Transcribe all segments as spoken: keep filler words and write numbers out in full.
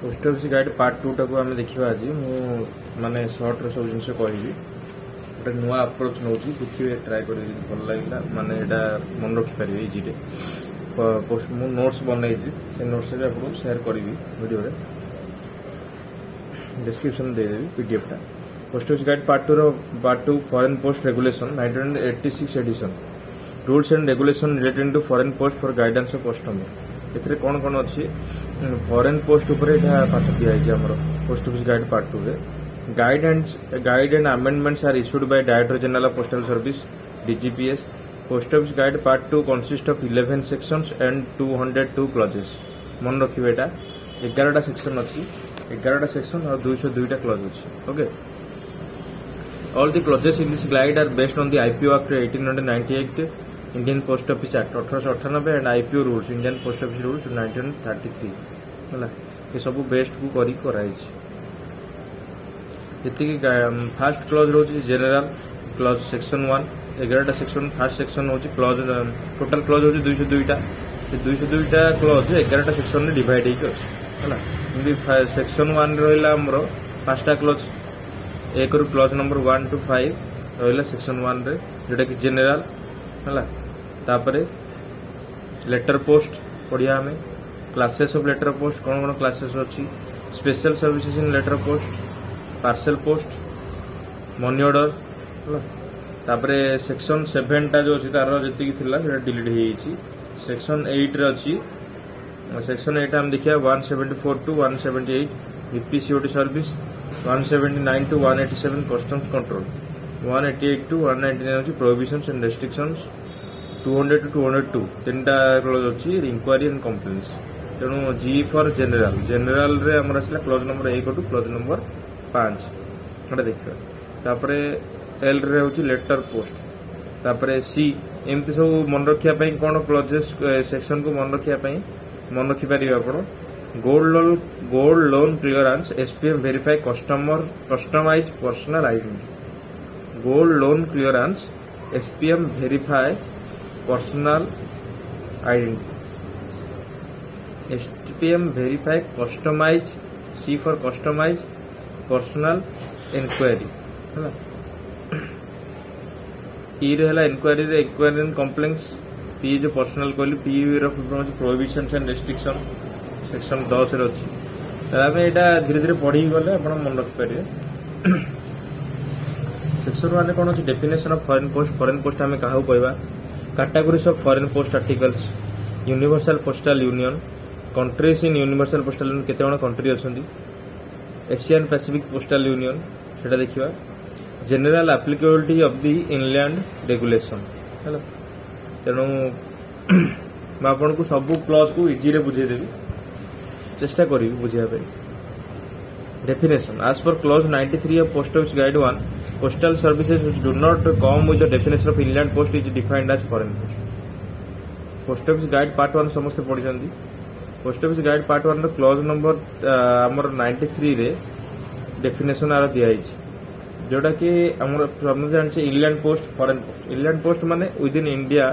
Post office guide part ଟୁଟାକୁ ଆମେ ଦେଖିବା ଆଜି। ମୁଁ ମାନେ ସର୍ଟରେ ସବୁ ଜିନିଷ କହିବି। ଗୋଟେ ନୂଆ ଆପ୍ରୋଚ୍ ନେଉଛି, ଦେଖିବେ, ଟ୍ରାଏ କରିବେ। ଯଦି ଭଲ ଲାଗିଲା, ମାନେ ଏଇଟା ମନେ ରଖିପାରିବେ ଇଜିରେ। ମୁଁ ନୋଟ୍ସ ବନେଇଛି, ସେ ନୋଟ୍ସ ବି ଆପଣଙ୍କୁ ସେୟାର କରିବି ଭିଡ଼ିଓରେ, ଡିସ୍କ୍ରିପ୍ସନ୍ ଦେଇଦେବି ପିଡିଏଫ୍ଟା। Post office guide part tour, part two, Foreign Post Regulation, nineteen eighty six edition, rules and regulation related to foreign post for guidance of customer। ଏଥିରେ କ'ଣ କ'ଣ ଅଛି? ଫରେନ୍ ପୋଷ୍ଟ ଉପରେ ଏଇଟା ପାଠ ଦିଆଯାଇଛି ଆମର ପୋଷ୍ଟ ଅଫିସ୍ ଗାଇଡ୍ ପାର୍ଟ ଟୁରେ। Guide and guide and amendments are issued by Director General of Postal Service, D G P S. Post Office Guide Part two consist of eleven sections and two hundred two clauses। ମନେ ରଖିବେ, ଏଇଟା ଏଗାରଟା section ଅଛି, ଏଗାରଟା section ଆଉ ଦୁଇଶହ ଦୁଇଟା clause ଅଛି। Okay. All the clauses in this guide are based on the I P O Act eighteen ninety-eight, Indian Post Office Act eighteen ninety-eight and I P O Rules, Indian Post Office Rules nineteen thirty-three। ହେଲା, ଏସବୁ ବେସ୍ଡକୁ କରିକି କରାଯାଇଛି। ଯେତିକି first clause ରହୁଛି, general clause, section one, ଏଗାରଟା section. First section ହେଉଛି clause, total clause ହେଉଛି ଦୁଇଶହ ଦୁଇଟା। ସେ ଦୁଇଶହ ଦୁଇଟା କ୍ଲଜ୍ ଏଗାରଟା ସେକ୍ସନରେ ଡିଭାଇଡ୍ ହେଇକି ଅଛି। ହେଲା, ଏମିତି ସେକ୍ସନ ୱାନ୍ ରହିଲା ଆମର ପାଞ୍ଚଟା କ୍ଲଜ୍। ଏକରୁ clause number one to five ରହିଲା ସେକ୍ସନ ୱାନ୍ରେ, ଯୋଉଟାକି ଜେନେରାଲ ହେଲା। ତାପରେ ଲେଟର ପୋଷ୍ଟ ପଢିବା ଆମେ, କ୍ଲାସେସ୍ ଅଫ୍ ଲେଟର ପୋଷ୍ଟ, କ'ଣ କ'ଣ କ୍ଲାସେସ୍ ଅଛି, special services in letter post, parcel post, money order। ହେଲା, ତାପରେ ସେକ୍ସନ ସେଭେନଟା ଯୋଉ ଅଛି, ତାର ଯେତିକି ଥିଲା ସେଟା ଡିଲିଟ୍ ହେଇଯାଇଛି। ସେକ୍ସନ ଏଇଟରେ ଅଛି, ସେକ୍ସନ ଏଇଟ୍ ଆମେ ଦେଖିବା, one seventy four to one seventy eight, V P C O D service, one seventy nine to one eighty seven, customs control, one eighty eight to one ninety nine ଅଛି prohibitions and restrictions, two hundred to two hundred two, ତିନିଟା clause ଅଛି, enquiry and complaints. ତେଣୁ G for general. ଜେନେରାଲରେ ଆମର ଆସିଲା clause number ଏକ two clause number ପାଞ୍ଚ, ଏଟା ଦେଖିବା। ତାପରେ ଏଲ୍ ରେ ହେଉଛି ଲେଟର ପୋଷ୍ଟ। ତାପରେ ସି, ଏମିତି ସବୁ ମନେ ରଖିବା ପାଇଁ କ'ଣ, କ୍ଲଜେସ୍ ସେକ୍ସନକୁ ମନେ ରଖିବା ପାଇଁ ମନେ ରଖିପାରିବେ ଆପଣ। Gold loan gold loan clearance, S P M verify customer customize personal identity. Gold loan clearance, S P M verify personal identity. S P M verify customize, C for customize personal enquiry। ହେଲା, ଇ ରେ ହେଲା ଏନକ୍ୱାରିରେ enquiry and complaints. P ଯୋଉ personal କହିଲି, P ର full form ଅଛି ପ୍ରୋହିବିସନ୍ସ and restriction, section ଦଶରେ ଅଛି। ତାହେଲେ ଆମେ ଏଇଟା ଧୀରେ ଧୀରେ ପଢିକି ଗଲେ ଆପଣ ମନେ ରଖିପାରିବେ। ସେକ୍ସନ ୱାନରେ କ'ଣ ଅଛି? Definition of foreign post, foreign post ଆମେ କାହାକୁ କହିବା, categories of foreign post articles, Universal Postal Union, countries in Universal Postal Union, କେତେ ଜଣ କଣ୍ଟ୍ରି ଅଛନ୍ତି, ଏସିଆନ୍ ପାସିଫିକ୍ ପୋଷ୍ଟାଲ ୟୁନିୟନ, ସେଟା ଦେଖିବା, general applicability of the inland regulation। ହେଲା, ତେଣୁ ମୁଁ ଆପଣଙ୍କୁ ସବୁ କ୍ଲଜକୁ ଇଜିରେ ବୁଝେଇଦେବି, ଚେଷ୍ଟା କରିବି ବୁଝିବା ପାଇଁ। Definition. As per clause ninety-three of Post Office Guide one, postal services which do not come with the definition of inland post is defined as foreign post. Post Office Guide Part one ସମସ୍ତେ ପଢିଛନ୍ତି। Post Office Guide Part one ର clause number ଆମର ninety ଥ୍ରୀରେ definition ଆର ଦିଆହେଇଛି, ଯୋଉଟା କି ଆମର ସମସ୍ତେ ଜାଣିଛେ, inland post, foreign post. Inland post ମାନେ ୱିଦିନ୍ ଇଣ୍ଡିଆ,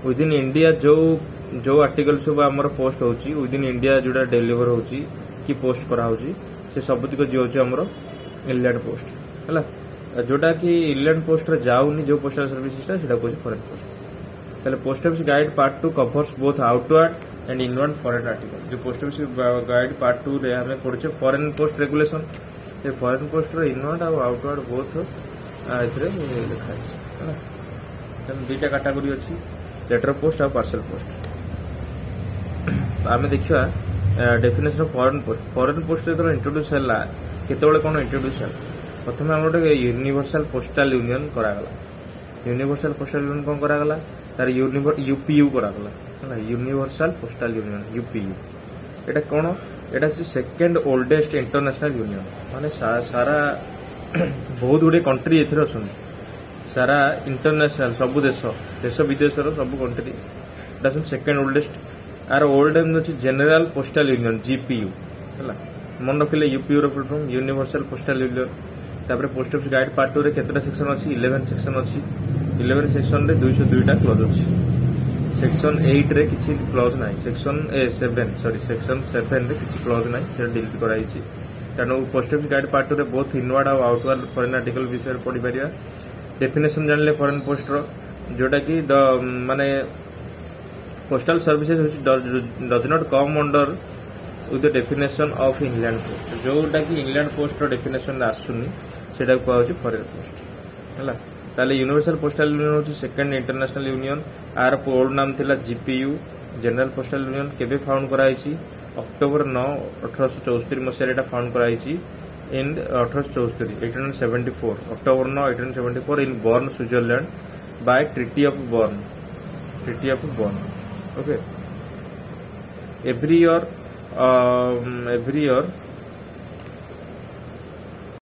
ୱିଦିନ୍ ଇଣ୍ଡିଆ ଯୋଉ ଯୋଉ ଆର୍ଟିକଲ ସବୁ ଆମର ପୋଷ୍ଟ ହଉଛି, ୱିଦିନ୍ ଇଣ୍ଡିଆ ଯୋଉଟା ଡେଲିଭର ହଉଛି କି ପୋଷ୍ଟ କରାହଉଛି, ସେ ସବୁତିକ ଯିଏ ଆମର ଇନଲ୍ୟାଣ୍ଡ ପୋଷ୍ଟ ହେଲା। ଯୋଉଟା କି ଇନଲ୍ୟାଣ୍ଡ ପୋଷ୍ଟରେ ଯାଉନି, ଯୋଉ ପୋଷ୍ଟାଲ ସର୍ଭିସଟା, ସେଟା କହୁଛି ଫରେନ୍ ପୋଷ୍ଟ। ତାହେଲେ Post Office Guide Part two covers both outward and inward foreign article। ଯୋଉ post office guide part two ରେ ଆମେ ପଢୁଛେ ଫରେନ୍ ପୋଷ୍ଟ ରେଗୁଲେସନ, ସେ ଫରେନ୍ ପୋଷ୍ଟର ଇନୱାର୍ଡ ଆଉ ଆଉଟୱାର୍ଡ ବୋଥ ଏଥିରେ ଲେଖା ହେଇଛି। ହେଲା, ତେଣୁ ଦୁଇଟା କାଟାଗୋରୀ ଅଛି, ଲେଟର ପୋଷ୍ଟ ଆଉ ପାର୍ସଲ ପୋଷ୍ଟ। ଆମେ ଦେଖିବା definition of foreign post। Foreign post ଯେତେବେଳେ ଇଣ୍ଟ୍ରୋଡ୍ୟୁସ୍ ହେଲା, କେତେବେଳେ କ'ଣ ଇଣ୍ଟ୍ରୋଡ୍ୟୁସ୍ ହେଲା? ପ୍ରଥମେ ଆମର ଗୋଟେ ୟୁନିଭର୍ସାଲ ପୋଷ୍ଟାଲ ୟୁନିୟନ କରାଗଲା। ୟୁନିଭର୍ସାଲ ପୋଷ୍ଟାଲ ୟୁନିୟନ କ'ଣ କରାଗଲା? ତାର ୟୁପିୟୁ କରାଗଲା। ହେଲା, ୟୁନିଭର୍ସାଲ ପୋଷ୍ଟାଲ ୟୁନିୟନ, ୟୁପିୟୁ। ଏଇଟା କ'ଣ? ଏଇଟା ହଉଛି ସେକେଣ୍ଡ ଓଲ୍ଡେଷ୍ଟ ଇଣ୍ଟରନ୍ୟାସନାଲ ୟୁନିୟନ। ମାନେ ସାରା ବହୁତ ଗୁଡ଼ିଏ କଣ୍ଟ୍ରି ଏଥିରେ ଅଛନ୍ତି, ସାରା ଇଣ୍ଟରନ୍ୟାସନାଲ ସବୁ ଦେଶ ଦେଶ ବିଦେଶର ସବୁ କଣ୍ଟ୍ରି। ଏଇଟା ହଉଛି ସେକେଣ୍ଡ ଓଲ୍ଡେଷ୍ଟ। ଆର ଓଲ୍ଡ ନେମ୍ ଅଛି ଜେନେରାଲ ପୋଷ୍ଟାଲ ୟୁନିୟନ, ଜିପିୟୁ। ହେଲା, ମନେ ରଖିଲେ ୟୁପିୟୁ ର full form universal postal union. ତାପରେ ପୋଷ୍ଟ ଅଫିସ ଗାଇଡ୍ ପାର୍ଟ ଟୁରେ କେତେଟା ସେକ୍ସନ ଅଛି? ଇଲେଭେନ ସେକ୍ସନ ଅଛି। ଇଲେଭେନ ସେକ୍ସନରେ ଦୁଇଶହ ଦୁଇଟା କ୍ଲଜ୍ ଅଛି। ସେକ୍ସନ ଏଇଟରେ କିଛି କ୍ଲଜ୍ ନାହିଁ ସେକ୍ସନ ଏ ସେଭେନ ସରି ସେକ୍ସନ ସେଭେନରେ କିଛି କ୍ଲଜ୍ ନାହିଁ ସେଟା ଡିଲିଟ୍ କରାଯାଇଛି ତେଣୁ ପୋଷ୍ଟ ଅଫିସ ଗାଇଡ୍ ପାର୍ଟ ଟୁରେ ବୋଥ୍ ଇନୱାର୍ଡ ଆଉ ଆଉଟୱାର୍ଡ ଫରେନ୍ ଆର୍ଟିକଲ ବିଷୟରେ ପଢିପାରିବା ଡେଫିନେସନ ଜାଣିଲେ ଫରେନ୍ ପୋଷ୍ଟର ଯୋଉଟା କି ଦ ମାନେ ପୋଷ୍ଟାଲ ସର୍ଭିସେସ୍ ହେଉଛି does not come under with the definition of inland post ଯୋଉଟା କି ଇନଲ୍ୟାଣ୍ଡ ପୋଷ୍ଟର ଡେଫିନେସନରେ ଆସୁନି ସେଟାକୁ କୁହାଯାଉଛି ଫରେନ୍ ପୋଷ୍ଟ ହେଲା ତାହେଲେ ୟୁନିଭର୍ସାଲ ପୋଷ୍ଟାଲ ୟୁନିୟନ ହେଉଛି ସେକେଣ୍ଡ ଇଣ୍ଟରନ୍ୟାସନାଲ ୟୁନିୟନ ଆର ଓଲ୍ଡ ନାମ ଥିଲା ଜିପିୟୁ ଜେନେରାଲ ପୋଷ୍ଟାଲ ୟୁନିୟନ କେବେ ଫାଉଣ୍ଡ କରାଯାଇଛି ଅକ୍ଟୋବର ନଅ ଅଠରଶହ ଚଉସ୍ତରୀ ମସିହାରେ ଏଟା ଫାଉଣ୍ଡ କରାଯାଇଛି ଇନ୍ ଅଠରଶହ ଚଉସ୍ତରୀ ଏଇଟିନ୍ ସେଭେଣ୍ଟି ଫୋର ଅକ୍ଟୋବର ନଅ eighteen seventy four in Bern Switzerland by Treaty of Bern Treaty of Bern okay every year every year